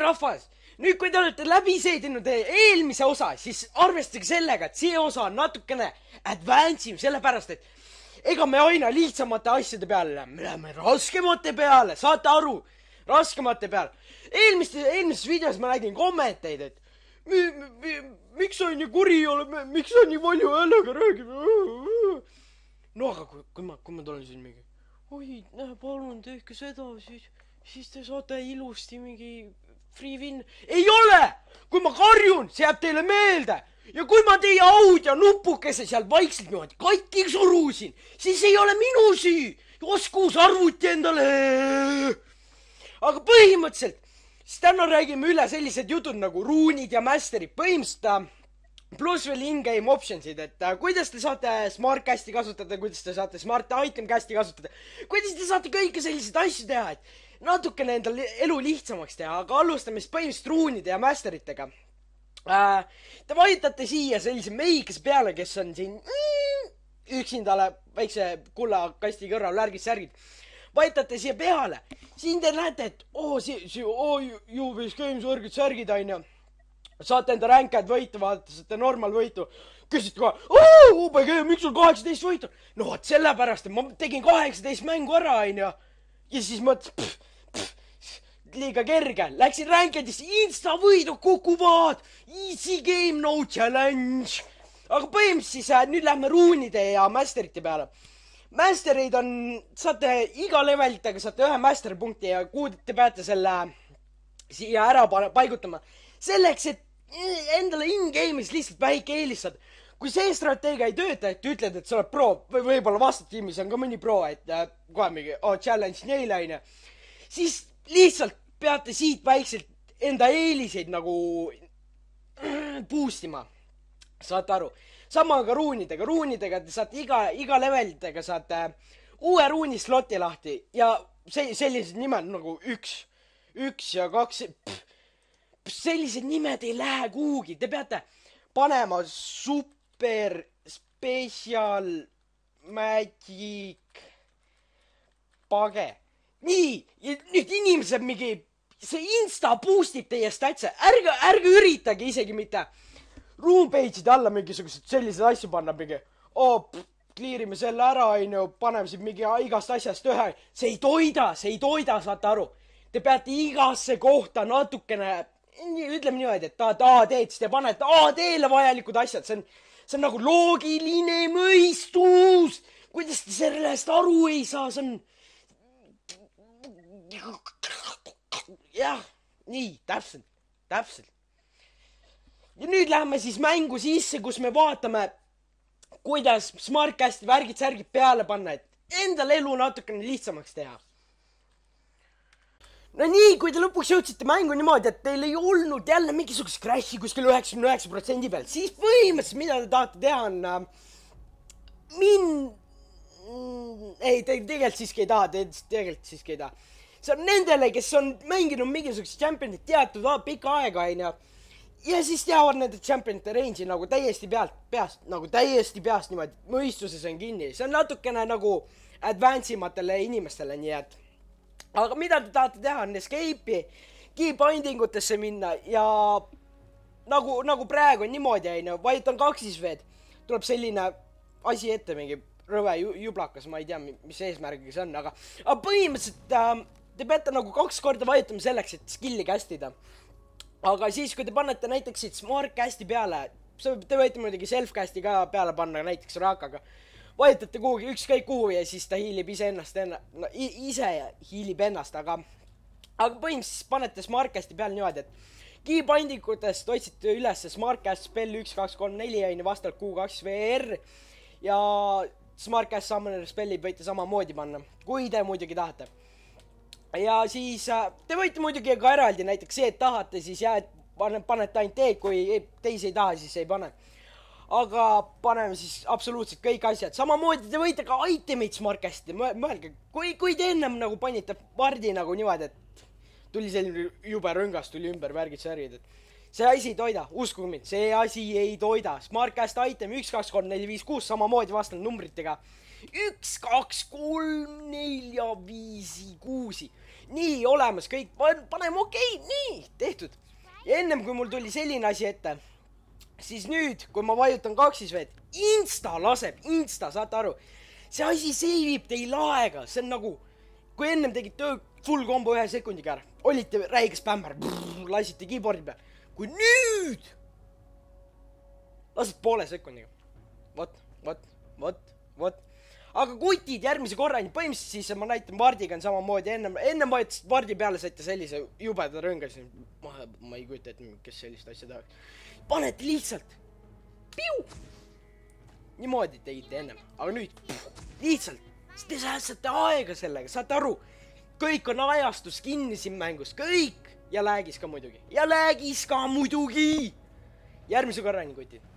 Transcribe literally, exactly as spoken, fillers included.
rahvas, nüüd kui te olete läbi seedinud eelmise osa, siis arvestage sellega, et see osa on natukene advance im, sellepärast, et ega me aina lihtsamate asjade peale läheme, me läheme raskemate peale, saate aru, raskemate peale. Eelmistes, eelmises videos ma nägin kommenteid, et mi, mi, miks sa nii kuri ei ole, miks sa nii palju häälega räägib? No aga kui, kui ma, kui ma tulen siin mingi, oi, näe, palun tehke seda, siis, siis te saate ilusti mingi free win. Ei ole! Kui ma karjun, see jääb teile meelde. Ja kui ma teie audio nupukese seal vaikselt niimoodi katki surusin, siis ei ole minu süü. Oskuus arvuti endale. Aga põhimõtteliselt, siis täna räägime üle sellised jutud nagu ruunid ja masterid. Põhimõtteliselt pluss veel in-game optionsid, et uh, kuidas te saate smart casti kasutada, kuidas te saate smart item casti kasutada, kuidas te saate kõike selliseid asju teha, et natukene endal elu lihtsamaks teha, aga alustame siis põhimõtteliselt ruunide ja masteritega. Uh, te vajutate siia sellise meikese peale, kes on siin mm, üksindale väikse kullakasti kõrval värgid särgid. Vajutate siia peale, siin te näete, et oo, si, si, oo, juubis games värgid särgid aina. Saate enda ränkad võitu, vaadata, saate normal võitu. Küsite kohe, ooo, O B G, miks sul kaheksateist võitu? No vaat sellepärast, et ma tegin kaheksateist mängu ära, aina. Ja siis mõtles, liiga kerge. Läksin ränkadisse, insta võidu kukuvad. Easy game, no challenge. Aga põhimõtteliselt siis äh, nüüd lähme ruunide ja masterite peale. Masterid on, saate iga levelitega, saate ühe master punkti ja kuhu te peate selle siia ära paigutama. Selleks, et endale in-game'is lihtsalt väike eelistad. Kui see strateegia ei tööta, et ütled, et sa oled pro, või võib-olla vastatiimis on ka mõni pro, et äh, kohe mingi oh, challenge neile aine, siis lihtsalt peate siit väikselt enda eeliseid nagu boostima. Saate aru? Sama ka ruunidega. Ruunidega te saate iga, iga levelitega saate uue ruuni sloti lahti ja see, sellised nimed nagu üks, üks ja kaks... Pff, sellised nimed ei lähe kuhugi. Te peate panema super special magic page. Nii, ja nüüd inimesed mingi, see insta boostib teie statse. Ärge, ärge üritage isegi mitte room page'ide alla mingisugused sellised asju panna mingi. Oo, kliirime selle ära, ainu, paneme siin mingi igast asjast ühe. See ei toida, see ei toida, saate aru. Te peate igasse kohta natukene ütleme niimoodi, et tahad A D-d, siis te panete A D-le vajalikud asjad. See on, see on nagu loogiline mõistus. Kuidas te sellest aru ei saa, see on... Jah, nii, täpselt, täpselt. Ja nüüd läheme siis mängu sisse, kus me vaatame, kuidas smartcasti värgid särgid peale panna, et endal elu natukene lihtsamaks teha. No nii, kui te lõpuks jõudsite mängu niimoodi, et teil ei olnud jälle mingisugust crash'i kuskil üheksakümne üheksa protsendi peal, siis põhimõtteliselt, mida te tahate teha, on äh, min... Mm, ei, te tegelikult siiski ei taha, te tegelikult siiski ei taha. See on nendele, kes on mänginud mingisugust championit teatud pikka aega, aina. Ja siis teavad nende championite range'i nagu täiesti pealt, peast, nagu täiesti peast niimoodi, mõistuses on kinni. See on natukene nagu advance imatele inimestele, nii et aga mida te tahate teha, on escape'i, keybinding utesse minna ja nagu, nagu praegu on niimoodi, aina, vajutan kaksis veed, tuleb selline asi ette, mingi rõve jublakas, ma ei tea, mis eesmärgiga see on, aga, aga põhimõtteliselt äh, te peate nagu kaks korda vajutama selleks, et skill'i castida. Aga siis, kui te panete näiteks siit smart casti peale, te võite muidugi self casti ka peale panna, näiteks Rakaga. Vajutate kuhugi ükskõik kuhu ja siis ta hiilib ise ennast, enna, no, ise hiilib ennast, aga, aga põhimõtteliselt panete smartcasti peale niimoodi, et keybindingutest otsite üles smartcast spell üks, kaks, kolm, neli ja vastavalt Q kaks V R ja smartcast summoner spelli võite samamoodi panna, kui te muidugi tahate. Ja siis te võite muidugi ka eraldi näiteks see, et tahate, siis jääd, panete ainult teed, kui teisi ei taha, siis ei pane. Aga paneme siis absoluutselt kõik asjad. Samamoodi te võite ka itemid smartcasti. Mõelge, kui, kui te ennem nagu panite pardi nagu niimoodi, et tuli selline jube rõngas, tuli ümber värgid särgid. See asi ei toida, uskuge mind, see asi ei toida. Smartcast item üks, kaks, kolm, neli, viis, kuus, samamoodi vastavalt numbritega. üks, kaks, kolm, nelja, viisi, kuusi. nii olemas kõik, paneme okei okay,, nii, tehtud. ja ennem kui mul tuli selline asi ette, siis nüüd, kui ma vajutan kaksisveed, insta laseb, insta, saate aru, see asi save ib teil aega, see on nagu, kui ennem tegid töö full kombo ühe sekundiga ära, olite räige spämmar, lasite keyboardi peal, kui nüüd lased poole sekundiga, vot, vot, vot, vot. aga kutid järgmise korrani, põhimõtteliselt siis ma näitan Vardiga on samamoodi, ennem, ennem vajutas Vardi peale, saite sellise jubeda rõnga, siis ma, ma ei kujuta, et kes sellist asja tahaks. Panete lihtsalt, piu, niimoodi tegite ennem, aga nüüd pff, lihtsalt, te säästate aega sellega, saate aru, kõik on ajastus kinni siin mängus, kõik ja läägis ka muidugi ja läägis ka muidugi. Järgmise korrani, kutid.